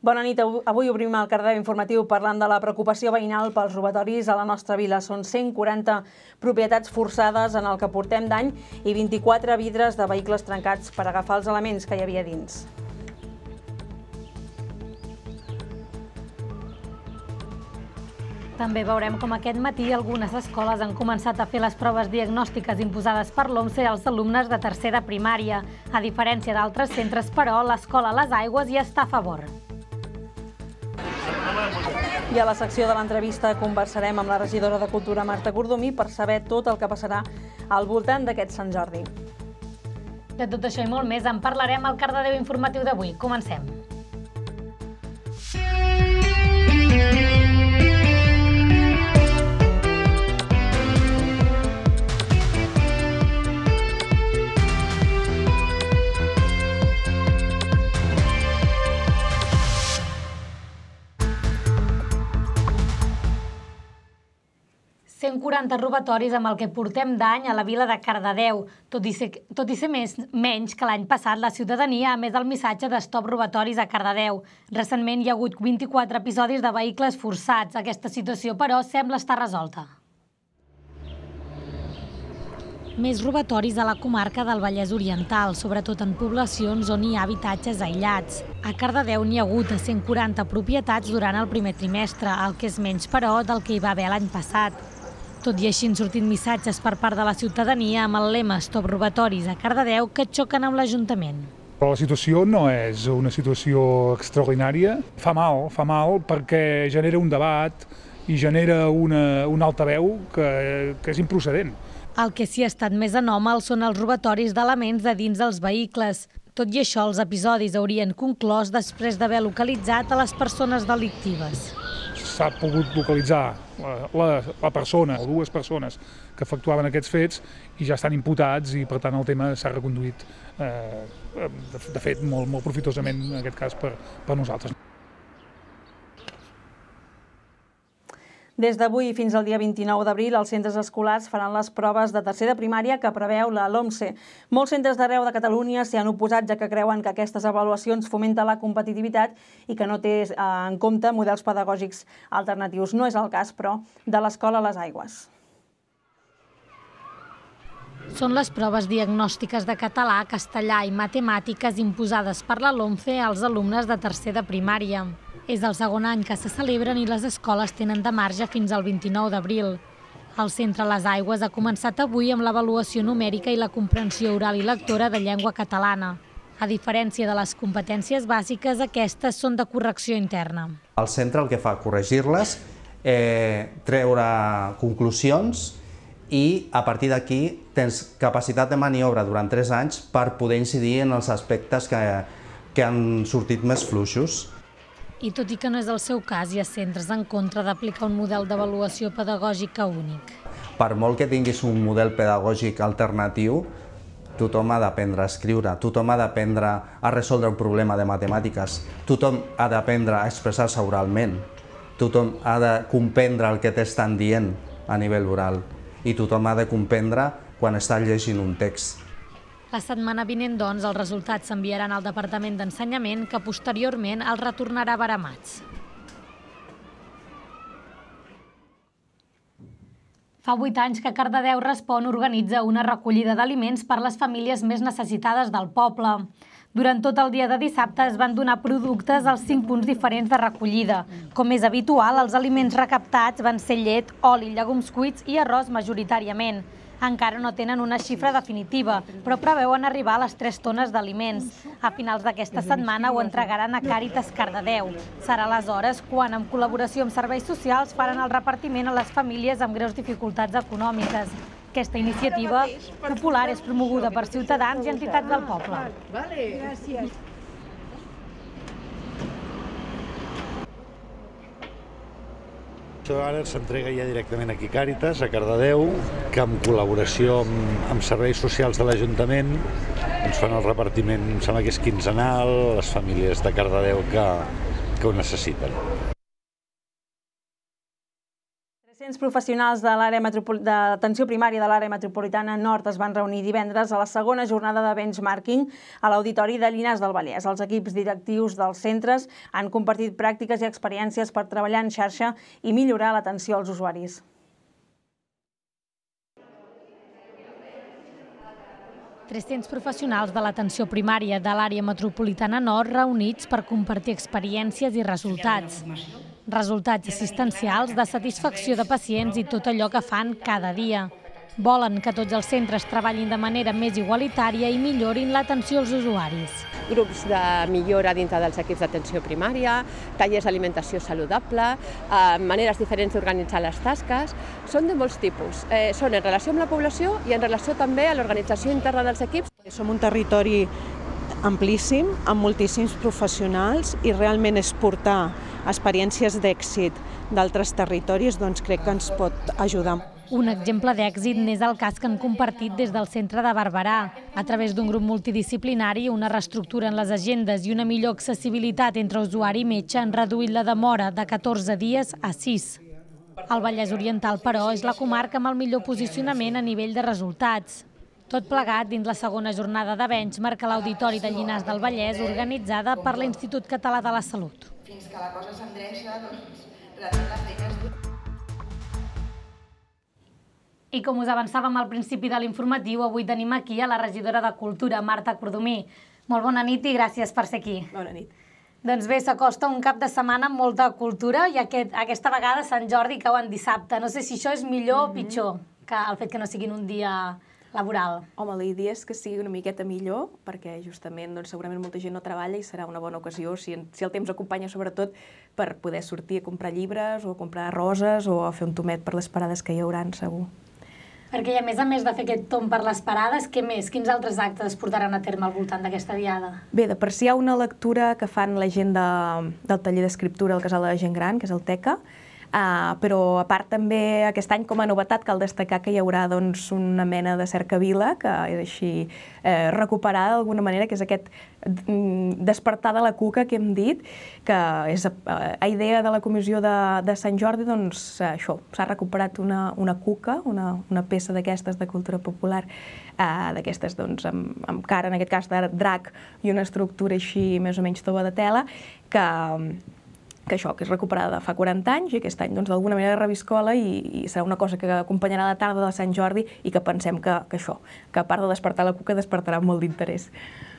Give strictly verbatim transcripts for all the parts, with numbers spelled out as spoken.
Bona nit. Avui obrim el Cardedeu informatiu parlant de la preocupació veïnal pels robatoris a la nostra vila. Són cent quaranta propietats forçades en el que portem d'any i vint-i-quatre vidres de vehicles trencats per agafar els elements que hi havia dins. També veurem com aquest matí algunes escoles han començat a fer les proves diagnòstiques imposades per l'OMSE als alumnes de tercer de primària. A diferència d'altres centres, però, l'escola Les Aigües hi està a favor. I a la secció de l'entrevista conversarem amb la regidora de Cultura, Marta Cordomí, per saber tot el que passarà al voltant d'aquest Sant Jordi. De tot això i molt més en parlarem al Cardedeu informatiu d'avui. Comencem. cent quaranta robatoris amb el que portem d'any a la vila de Cardedeu. Tot i ser, tot i ser més, menys que l'any passat, la ciutadania ha emès el missatge d'Stop Robatoris a Cardedeu. Recentment hi ha hagut vint-i-quatre episodis de vehicles forçats. Aquesta situació, però, sembla estar resolta. Més robatoris a la comarca del Vallès Oriental, sobretot en poblacions on hi ha habitatges aïllats. A Cardedeu n'hi ha hagut de cent quaranta propietats durant el primer trimestre, el que és menys, però, del que hi va haver l'any passat. Tot i així han sortit missatges per part de la ciutadania amb el lema Stop Robatoris a Cardedeu que xoquen amb l'Ajuntament. Però la situació no és una situació extraordinària. Fa mal, fa mal perquè genera un debat i genera una, una altaveu que, que és improcedent. El que sí ha estat més anòmal són els robatoris d'elements de dins dels vehicles. Tot i això, els episodis haurien conclòs després d'haver localitzat a les persones delictives. S'ha pogut localitzar la, la, la persona o dues persones que efectuaven aquests fets i ja estan imputats i, per tant, el tema s'ha reconduït, eh, de, de fet, molt, molt profitosament, en aquest cas, per, per nosaltres. Des d'avui fins al dia vint-i-nou d'abril, els centres escolars faran les proves de tercer de primària que preveu la LOMSE. Molts centres d'arreu de Catalunya s'hi han oposat, ja que creuen que aquestes avaluacions fomenten la competitivitat i que no té en compte models pedagògics alternatius. No és el cas, però, de l'escola Les Aigües. Són les proves diagnòstiques de català, castellà i matemàtiques imposades per la LOMCE als alumnes de tercer de primària. És el segon any que se celebren i les escoles tenen de marge fins al vint-i-nou d'abril. El centre Les Aigües ha començat avui amb l'avaluació numèrica i la comprensió oral i lectora de llengua catalana. A diferència de les competències bàsiques, aquestes són de correcció interna. El centre el que fa corregir-les, eh, treure conclusions i a partir d'aquí tens capacitat de maniobra durant tres anys per poder incidir en els aspectes que, que han sortit més fluixos. I tot i que no és el seu cas, hi ha centres en contra d'aplicar un model d'avaluació pedagògica únic. Per molt que tinguis un model pedagògic alternatiu, tothom ha d'aprendre a escriure, tothom ha d'aprendre a resoldre un problema de matemàtiques, tothom ha d'aprendre a expressar-se oralment, tothom ha de comprendre el que t'estan dient a nivell oral i tothom ha de comprendre quan està llegint un text. La setmana vinent, doncs, els resultats s'enviaran al Departament d'Ensenyament, que posteriorment els retornarà baramats. Fa vuit anys que Cardedeu Respon organitza una recollida d'aliments per les famílies més necessitades del poble. Durant tot el dia de dissabte es van donar productes als cinc punts diferents de recollida. Com és habitual, els aliments recaptats van ser llet, oli, llegums cuits i arròs majoritàriament. Encara no tenen una xifra definitiva, però preveuen arribar a les tres tones d'aliments. A finals d'aquesta setmana ho entregaran a Càritas Cardedeu. Serà aleshores quan, en col·laboració amb serveis socials, faran el repartiment a les famílies amb greus dificultats econòmiques. Aquesta iniciativa popular és promoguda per ciutadans i entitats del poble. Gràcies. Ara s'entrega ja directament aquí Càritas, a Cardedeu, que en col·laboració amb, amb serveis socials de l'Ajuntament ens fan el repartiment, em sembla que és quinzenal, a les famílies de Cardedeu que, que ho necessiten. Els professionals de l'àrea d'atenció primària de l'àrea metropolitana nord es van reunir divendres a la segona jornada de benchmarking a l'Auditori de Llinars del Vallès. Els equips directius dels centres han compartit pràctiques i experiències per treballar en xarxa i millorar l'atenció als usuaris. tres-cents professionals de l'atenció primària de l'àrea metropolitana nord reunits per compartir experiències i resultats. Resultats assistencials, de satisfacció de pacients i tot allò que fan cada dia. Volen que tots els centres treballin de manera més igualitària i millorin l'atenció als usuaris. Grups de millora dintre dels equips d'atenció primària, tallers d'alimentació saludable, maneres diferents d'organitzar les tasques, són de molts tipus. Són en relació amb la població i en relació també a l'organització interna dels equips. Som un territori amplíssim, amb moltíssims professionals i realment exportar experiències d'èxit d'altres territoris doncs crec que ens pot ajudar. Un exemple d'èxit n'és el cas que han compartit des del centre de Barberà. A través d'un grup multidisciplinari, una reestructura en les agendes i una millor accessibilitat entre usuari i metge han reduït la demora de catorze dies a sis. El Vallès Oriental, però, és la comarca amb el millor posicionament a nivell de resultats. Tot plegat dins la segona jornada de benchmark a l'Auditori de Llinars del Vallès, organitzada per l'Institut Català de la Salut. Fins que la cosa s'endreça, doncs, realment la feina és dura. I com us avançàvem al principi de l'informatiu, avui tenim aquí a la regidora de Cultura, Marta Cordomí. Molt bona nit i gràcies per ser aquí. Bona nit. Doncs bé, s'acosta un cap de setmana amb molta cultura i aquest, aquesta vegada Sant Jordi cau en dissabte. No sé si això és millor o pitjor que el fet que no siguin un dia laboral. Home, la idea és que sigui una miqueta millor, perquè justament doncs, segurament molta gent no treballa i serà una bona ocasió, si, si el temps acompanya sobretot, per poder sortir a comprar llibres o a comprar roses o a fer un tomet per les parades que hi hauran, segur. Perquè a més a més de fer aquest tom per les parades, què més? Quins altres actes es portaran a terme al voltant d'aquesta diada? Bé, de per si hi ha una lectura que fan la gent de, del taller d'escriptura al Casal de la Gent Gran, que és el Teca, Uh, però a part també aquest any com a novetat cal destacar que hi haurà doncs, una mena de cercavila que és així eh, recuperada d'alguna manera, que és aquest despertar de la cuca que hem dit, que és a, a idea de la comissió de, de Sant Jordi, doncs això, s'ha recuperat una, una cuca, una, una peça d'aquestes de cultura popular, uh, d'aquestes doncs, amb, amb cara, en aquest cas de drac, i una estructura així més o menys tova de tela, que que això, que és recuperada fa quaranta anys i aquest any doncs d'alguna manera reviscola i, i serà una cosa que acompanyarà la tarda de Sant Jordi i que pensem que, que això, que a part de despertar la cuca despertarà molt d'interès.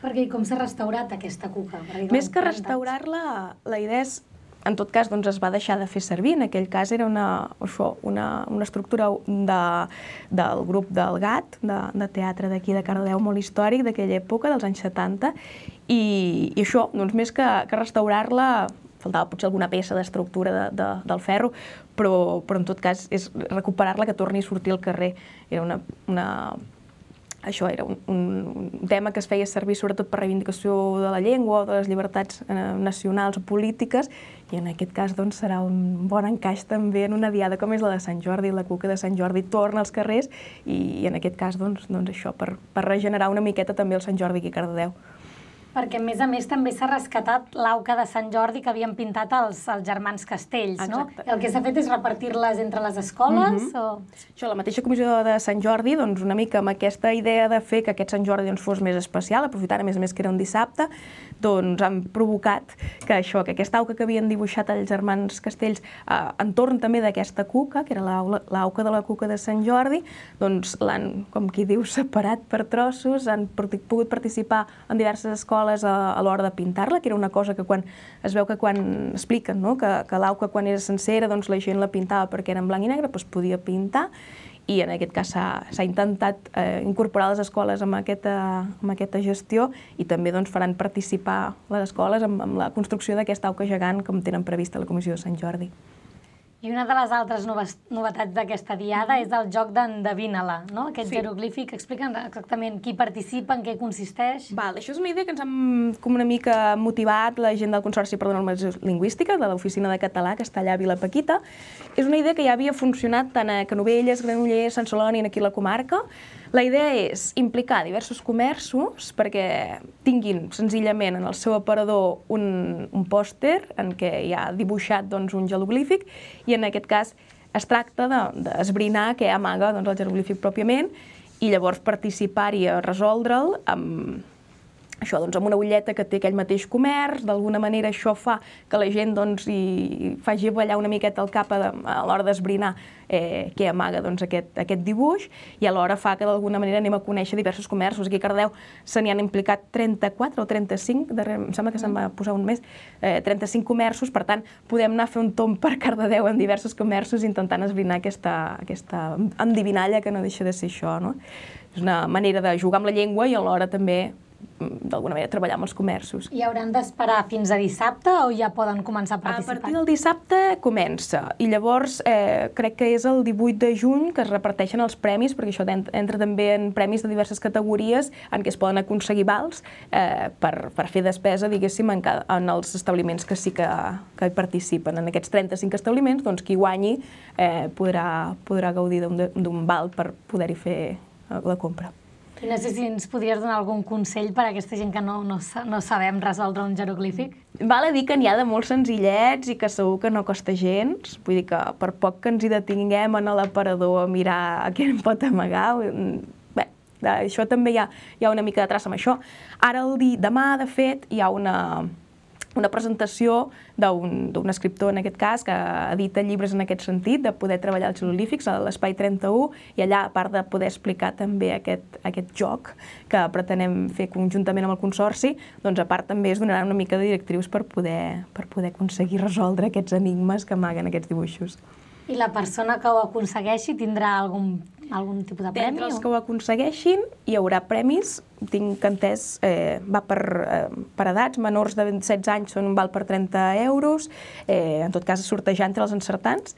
Perquè com s'ha restaurat aquesta cuca? Més que restaurar-la, la idea és, en tot cas, doncs es va deixar de fer servir, en aquell cas era una, això, una, una estructura de, del grup del Gat, de, de teatre d'aquí de Cardedeu, molt històric d'aquella època, dels anys setanta, i, i això, doncs més que, que restaurar-la, faltava potser alguna peça d'estructura de, de, del ferro, però, però en tot cas és recuperar-la que torni a sortir al carrer. Era una, una, això era un, un tema que es feia servir sobretot per reivindicació de la llengua o de les llibertats eh, nacionals o polítiques, i en aquest cas doncs, serà un bon encaix també en una diada com és la de Sant Jordi. La cuca de Sant Jordi torna als carrers i, i en aquest cas doncs, doncs això, per, per regenerar una miqueta també el Sant Jordi aquí a Cardedeu. Perquè, a més a més, també s'ha rescatat l'auca de Sant Jordi que havien pintat els, els germans Castells, no? Exacte. El que s'ha fet és repartir-les entre les escoles? Mm-hmm. o... Això, la mateixa comissió de Sant Jordi, doncs, una mica amb aquesta idea de fer que aquest Sant Jordi doncs, fos més especial, aprofitant a més a més que era un dissabte, doncs han provocat que això, que aquesta auca que havien dibuixat els germans Castells eh, entorn també d'aquesta cuca, que era l'auca de la cuca de Sant Jordi, doncs l'han, com qui diu, separat per trossos, han pogut participar en diverses escoles a, a l'hora de pintar-la, que era una cosa que quan es veu que quan expliquen no? que, que l'auca quan era sencera doncs la gent la pintava perquè era en blanc i negre, doncs podia pintar, i en aquest cas s'ha intentat eh, incorporar les escoles amb aquesta, amb aquesta gestió, i també doncs, faran participar les escoles amb, amb la construcció d'aquesta auca gegant com tenen prevista la Comissió de Sant Jordi. I una de les altres novetats d'aquesta diada és el joc d'Endevina-la, no? Aquest sí. jeroglífic. Explica'ns exactament qui participa, en què consisteix. Val, això és una idea que ens hem com una mica motivat la gent del Consorci per la Normalització Lingüística, de l'Oficina de Català, que està allà a Vilapaquita. És una idea que ja havia funcionat tant a Canovelles, Granollers, Sant Celoni i aquí a la comarca. La idea és implicar diversos comerços perquè tinguin senzillament en el seu aparador un, un pòster en què hi ha dibuixat doncs, un jeroglífic, i en aquest cas es tracta d'esbrinar què amaga el jeroglífic pròpiament i llavors participar-hi a resoldre'l amb això, doncs, amb una butlleta que té aquell mateix comerç. D'alguna manera això fa que la gent hi faci ballar una miqueta el cap a l'hora d'esbrinar què amaga aquest dibuix, i alhora fa que d'alguna manera anem a conèixer diversos comerços. Aquí a Cardedeu se n'hi han implicat trenta-quatre o trenta-cinc, em sembla que se'n va posar un mes, trenta-cinc comerços, per tant podem anar a fer un tomb per Cardedeu en diversos comerços intentant esbrinar aquesta endivinalla que no deixa de ser això. És una manera de jugar amb la llengua i alhora també d'alguna manera treballar amb els comerços. I hauran d'esperar fins a dissabte o ja poden començar a participar? A partir del dissabte comença i llavors crec que és el divuit de juny que es reparteixen els premis, perquè això entra també en premis de diverses categories en què es poden aconseguir vals per fer despesa, diguéssim, en els establiments que sí que hi participen. En aquests trenta-cinc establiments, doncs qui guanyi podrà gaudir d'un val per poder-hi fer la compra. I no sé si ens podries donar algun consell per a aquesta gent que no sabem resoldre un jeroglífic? Val a dir que n'hi ha de molt senzillets i que segur que no costa gens. Vull dir que per poc que ens hi detinguem en l'aparador a mirar què en pot amagar, bé, això també hi ha una mica de traça amb això. Ara, demà, de fet, hi ha una... una presentació d'un escriptor, en aquest cas, que edita llibres en aquest sentit, de poder treballar els jeroglífics a l'Espai trenta-u, i allà, a part de poder explicar també aquest joc que pretenem fer conjuntament amb el Consorci, doncs a part també es donaran una mica de directrius per poder aconseguir resoldre aquests enigmes que amaguen aquests dibuixos. I la persona que ho aconsegueixi tindrà algun tipus de premi? D'entre els que ho aconsegueixin hi haurà premis. Tinc entès, va per edats, menors de setze anys són un val per trenta euros, en tot cas sortejar entre els encertants.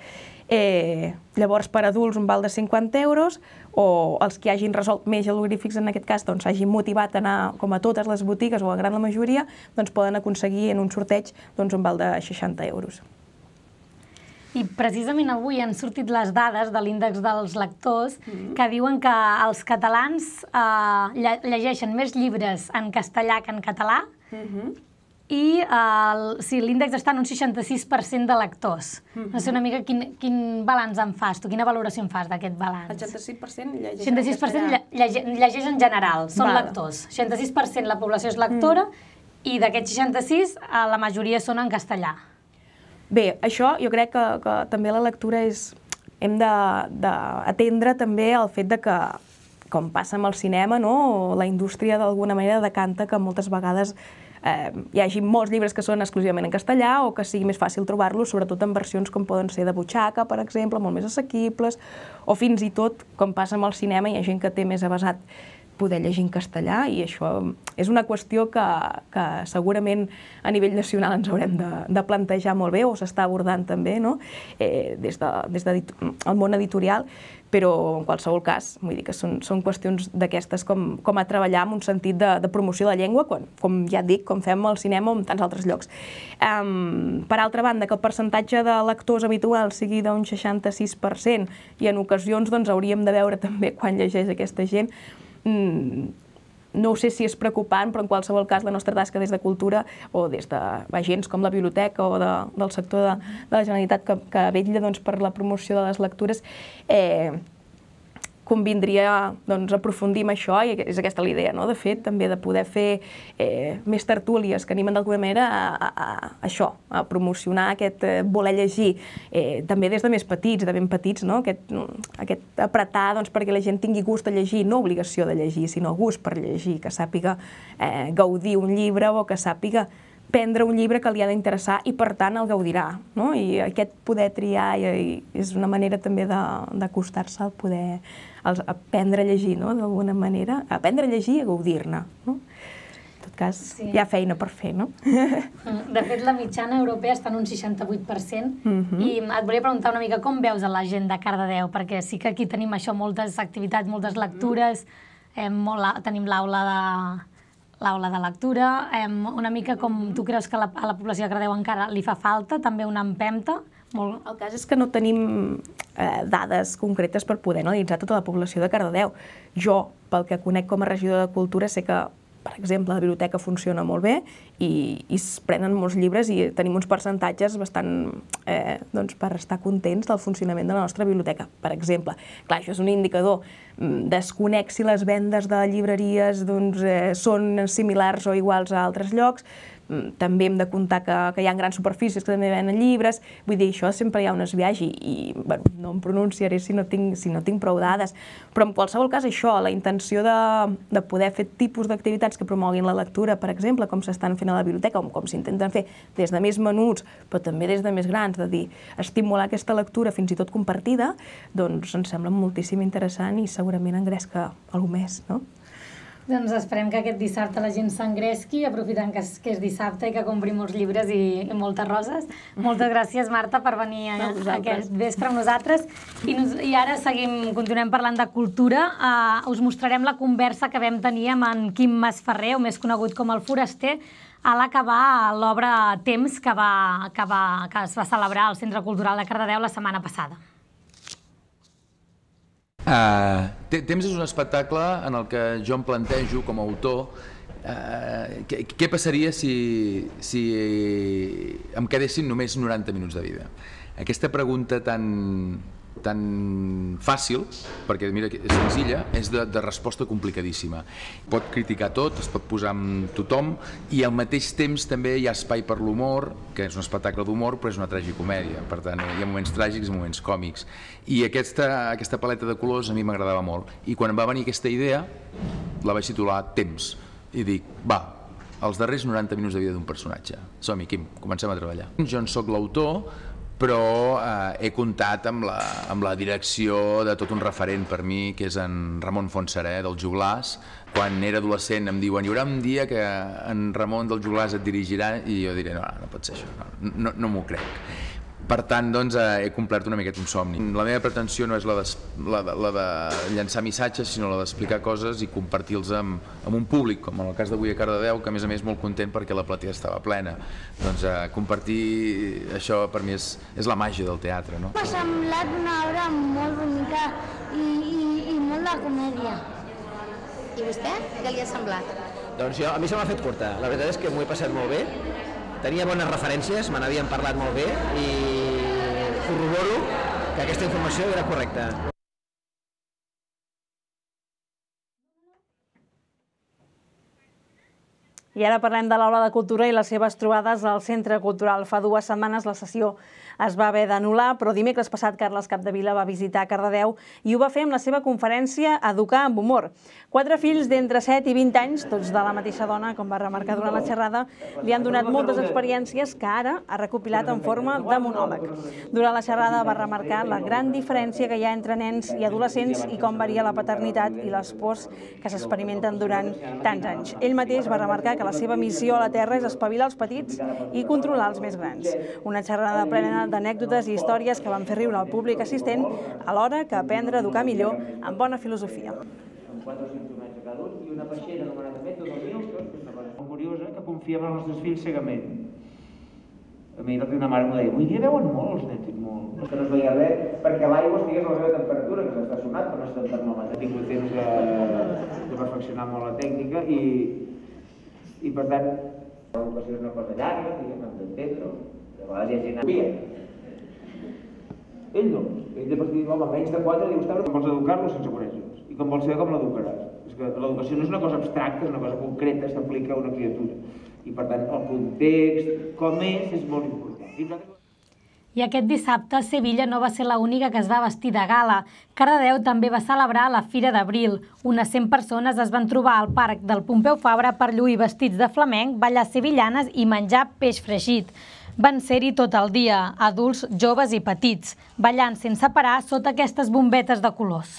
Llavors per adults un val de cinquanta euros, o els que hagin resolt més jeroglífics en aquest cas, doncs s'hagin motivat a anar com a totes les botigues o a gran la majoria, doncs poden aconseguir en un sorteig un val de seixanta euros. I precisament avui han sortit les dades de l'índex dels lectors que diuen que els catalans llegeixen més llibres en castellà que en català i l'índex està en un seixanta-sis per cent de lectors. No sé una mica quin balanç en fas tu, quina valoració en fas d'aquest balanç? El seixanta-sis per cent llegeix en castellà. seixanta-sis per cent llegeix en general, són lectors. seixanta-sis per cent la població és lectora i d'aquest seixanta-sis la majoria són en castellà. Bé, això jo crec que també la lectura és... Hem d'atendre també el fet que, com passa amb el cinema, la indústria d'alguna manera decanta que moltes vegades hi hagi molts llibres que són exclusivament en castellà o que sigui més fàcil trobar-los, sobretot en versions com poden ser de butxaca, per exemple, molt més assequibles, o fins i tot, com passa amb el cinema, hi ha gent que té més avasat poder llegir en castellà, i això és una qüestió que segurament a nivell nacional ens haurem de plantejar molt bé, o s'està abordant també des del món editorial, però en qualsevol cas, vull dir que són qüestions d'aquestes com a treballar en un sentit de promoció de la llengua, com ja et dic, com fem al cinema o en tants altres llocs. Per altra banda, que el percentatge de lectors habituals sigui d'un seixanta-sis per cent i en ocasions hauríem de veure també quan llegeix aquesta gent, no sé si és preocupant, però en qualsevol cas la nostra tasca des de Cultura o des d'agents com la biblioteca o del sector de la Generalitat que vetlla per la promoció de les lectures, convindria aprofundir en això, i és aquesta la idea, de fet, també de poder fer més tertúlies que animen d'alguna manera a això, a promocionar aquest voler llegir, també des de més petits, de ben petits, aquest apretar perquè la gent tingui gust de llegir, no obligació de llegir, sinó gust per llegir, que sàpiga gaudir un llibre o que sàpiga prendre un llibre que li ha d'interessar i, per tant, el gaudirà. I aquest poder triar és una manera també d'acostar-se al poder aprendre a llegir, d'alguna manera, aprendre a llegir i a gaudir-ne. En tot cas, hi ha feina per fer, no? De fet, la mitjana europea està en un seixanta-vuit per cent i et volia preguntar una mica com veus a la gent de Cardedeu, perquè sí que aquí tenim això, moltes activitats, moltes lectures, tenim l'aula de... l'aula de lectura, una mica com tu creus que a la població de Cardedeu encara li fa falta, també una empenta? El cas és que no tenim dades concretes per poder analitzar tota la població de Cardedeu. Jo, pel que conec com a regidor de Cultura, sé que per exemple, la biblioteca funciona molt bé i, i es prenen molts llibres i tenim uns percentatges bastant eh, doncs per estar contents del funcionament de la nostra biblioteca. Per exemple, clar, això és un indicador. Desconec si les vendes de llibreries doncs, eh, són similars o iguals a altres llocs. També hem de comptar que, que hi ha grans superfícies que també venen llibres. Vull dir, això sempre hi ha un esbiaix i, i bueno, no em pronunciaré si no tinc, si no tinc prou dades. Però en qualsevol cas això, la intenció de, de poder fer tipus d'activitats que promoguin la lectura, per exemple, com s'estan fent a la biblioteca, com, com s'intenten fer des de més menuts, però també des de més grans, de dir, estimular aquesta lectura fins i tot compartida, doncs ens sembla moltíssim interessant i segurament engresca alguna més, no? Doncs esperem que aquest dissabte la gent s'engresqui, aprofitant que és, que és dissabte i que compri molts llibres i, i moltes roses. Moltes gràcies, Marta, per venir a, a aquest vespre amb nosaltres. I, nos, i ara seguim, continuem parlant de cultura. Uh, us mostrarem la conversa que vam tenir amb en Quim Masferrer, o més conegut com el Foraster, a l'acabar l'obra Temps, que, va, que, va, que es va celebrar al Centre Cultural de Cardedeu la setmana passada. Uh, Temps és un espectacle en el que jo em plantejo com a autor uh, què, què passaria si, si em quedessin només noranta minuts de vida. Aquesta pregunta tan, tan fàcil, perquè mira, és senzilla, és de, de resposta complicadíssima. Pot criticar tot, es pot posar amb tothom i al mateix temps també hi ha espai per l'humor, que és un espectacle d'humor però és una tragicomèdia, per tant hi ha moments tràgics i moments còmics. I aquesta, aquesta paleta de colors a mi m'agradava molt i quan em va venir aquesta idea la vaig titular Temps i dic, va, els darrers noranta minuts de vida d'un personatge. Som-hi, Quim, comencem a treballar. Jo en soc l'autor, però eh, he comptat amb la, amb la direcció de tot un referent per mi, que és en Ramon Fontserè, dels Joglars. Quan era adolescent em diuen, hi haurà un dia que en Ramon dels Joglars et dirigirà, i jo diré, no, no pot ser això, no, no, no m'ho crec. Per tant, doncs, eh, he complert una miqueta un somni. La meva pretensió no és la de, la de, la de llançar missatges, sinó la d'explicar coses i compartir-los amb, amb un públic, com en el cas d'avui a Cardedeu, que a més a més molt content perquè la platea estava plena. Doncs eh, compartir això per mi és, és la màgia del teatre, no? M'ha semblat una obra molt bonica i, i, i molt de comèdia. I vostè? Què li ha semblat? Doncs jo, a mi se m'ha fet curta. La veritat és que m'ho he passat molt bé. Tenia bones referències, me n'havien parlat molt bé i corroboro que aquesta informació era correcta. I ara parlem de l'Aula de Cultura i les seves trobades al Centre Cultural. Fa dues setmanes la sessió es va haver d'anul·lar, però dimecres passat Carles Capdevila va visitar Cardedeu i ho va fer amb la seva conferència Educar amb humor. Quatre fills d'entre set i vint anys, tots de la mateixa dona, com va remarcar durant la xerrada, li han donat moltes experiències que ara ha recopilat en forma de monòleg. Durant la xerrada va remarcar la gran diferència que hi ha entre nens i adolescents i com varia la paternitat i les pors que s'experimenten durant tants anys. Ell mateix va remarcar que la seva missió a la Terra és espavilar els petits i controlar els més grans. Una xerrada plena d'anècdotes i històries que van fer riure al públic assistent, alhora que aprendre a educar millor amb bona filosofia. Amb quatre simptomats a cada un i una peixera anomenada Mètode Newton, que és una cosa molt curiosa, que confiem en els nostres fills cegament. A mi una mare m'ho deia, avui dia veuen molt els nens, molt. Que no es veia res, perquè l'aigua estigués a la seva temperatura, que s'està sonat, però no està en termòmetre. He tingut temps de, de perfeccionar molt la tècnica i, i per tant, l'educació és una cosa llarga, diguem, hem d'entendre-ho. De vegades hi ha gent que ell no. Ell de partir d'home, menys de quatre, diu, com vols educar-lo sense conèixer-los. I com vols saber com l'educaràs. És que l'educació no és una cosa abstracta, és una cosa concreta, s'aplica a una criatura. I per tant, el context, com és, és molt important. I aquest dissabte, Sevilla no va ser l'única que es va vestir de gala. Cardedeu també va celebrar la Fira d'Abril. Unes cent persones es van trobar al parc del Pompeu Fabra per lluir vestits de flamenc, ballar sevillanes i menjar peix fregit. Van ser-hi tot el dia, adults, joves i petits, ballant sense parar sota aquestes bombetes de colors.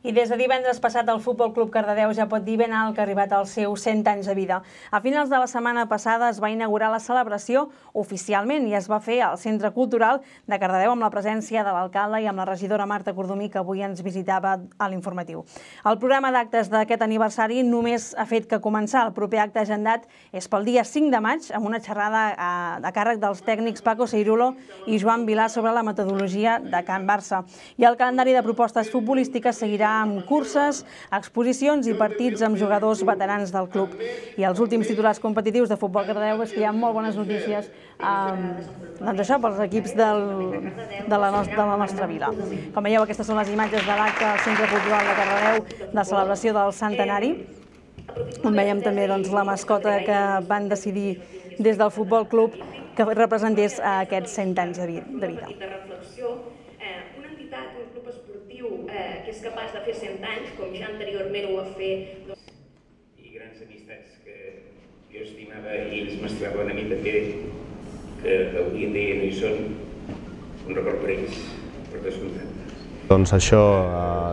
I des de divendres passat el Futbol Club Cardedeu ja pot dir ben alt que ha arribat als seus cent anys de vida. A finals de la setmana passada es va inaugurar la celebració oficialment i es va fer al Centre Cultural de Cardedeu amb la presència de l'alcalde i amb la regidora Marta Cordomí, que avui ens visitava a l'informatiu. El programa d'actes d'aquest aniversari només ha fet que començar. El proper acte agendat és pel dia cinc de maig amb una xerrada a càrrec dels tècnics Paco Seirulo i Joan Vilà sobre la metodologia de Can Barça. I el calendari de propostes futbolístiques seguirà amb curses, exposicions i partits amb jugadors veterans del club. I els últims titulars competitius de Futbol Cardedeu és que hi ha molt bones notícies doncs això, pels equips de la nostra vila. Com veieu, aquestes són les imatges de l'acte al Centre Cultural de Cardedeu de celebració del centenari, on veiem també la mascota que van decidir des del Futbol Club que representés aquests cent anys de vida. Una entitat, un club esportiu que és capaç de fer cent anys, com ja anteriorment ho va fer. I grans amistats que jo estimava i ells m'estimaven a mi també, que avui en dia no hi són, un record per ells, per descomptat. Doncs això,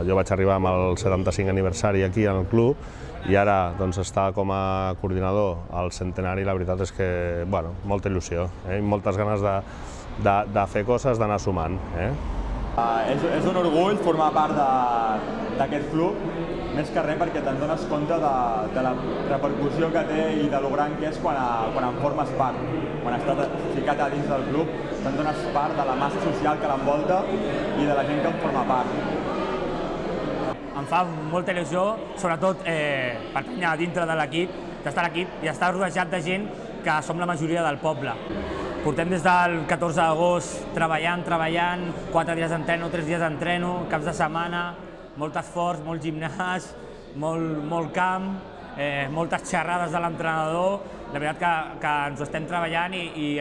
jo vaig arribar amb el setanta-cinc aniversari aquí al club i ara estar com a coordinador al centenari, la veritat és que, bueno, molta il·lusió i moltes ganes de fer coses, d'anar sumant. És un orgull formar part d'aquest club, més que res perquè te'n dones compte de la repercussió que té i de lo gran que és quan en formes part. Quan estàs ficat a dins del club, te'n dones part de la massa social que l'envolta i de la gent que en forma part. Em fa molta il·lusió, sobretot pertànyer dintre de l'equip, d'estar a l'equip i estar rodejat de gent que som la majoria del poble. Portem des del catorze d'agost treballant, treballant, quatre dies d'entreno, tres dies d'entreno, caps de setmana, molt esforç, molt gimnàs, molt camp, moltes xerrades de l'entrenador. La veritat que ens ho estem treballant i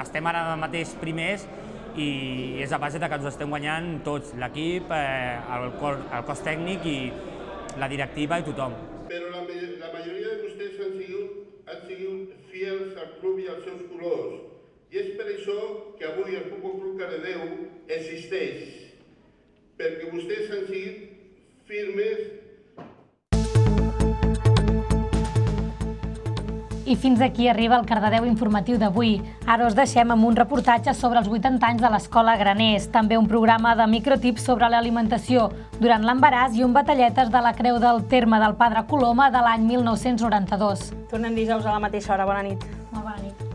estem ara mateix primers i és a base que ens ho estem guanyant tots, l'equip, el cos tècnic i la directiva i tothom. Però la majoria de vostès han sigut fiels al club i als seus colors. I és per això que avui el Futbol Club Cardedeu existeix, perquè vostès han sigut firmes. I fins aquí arriba el Cardedeu informatiu d'avui. Ara us deixem amb un reportatge sobre els vuitanta anys de l'Escola Graners, també un programa de microtips sobre l'alimentació durant l'embaràs i un batalletes de la Creu del Terme del Padre Coloma de l'any mil nou-cents noranta-dos. Tornem dijous a la mateixa hora. Bona nit. Molt bona nit.